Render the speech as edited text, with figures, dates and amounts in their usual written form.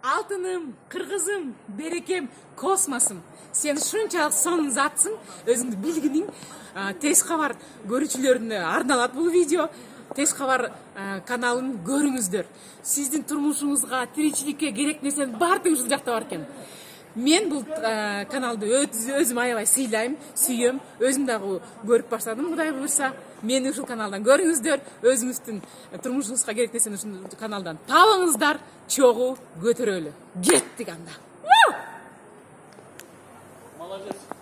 Алтыным, кыргызым, берекем, космосум. Сен ушунчалык сонун затсың, өзүңдү билгиниң. Тез кабар көрүүчүлөрүнө арналат бул видео. Тез кабар каналын көрүңүздөр. Сиздин турмушуңузга, тиричиликке керек нерсенин баардыгы ушул жакта бар экен. Мен бул каналды өзүм аябай сыйлайм, сүйөм. Өзүм дагы көрүп баштадым, Кудай буйрса. Мени ушул каналдан көрүңүздөр, өзүңүздүн турмушуңузга керек нерсени ушул каналдан табыңыздар, чогуу көтөрөлү. Кеттик анда. Молодец.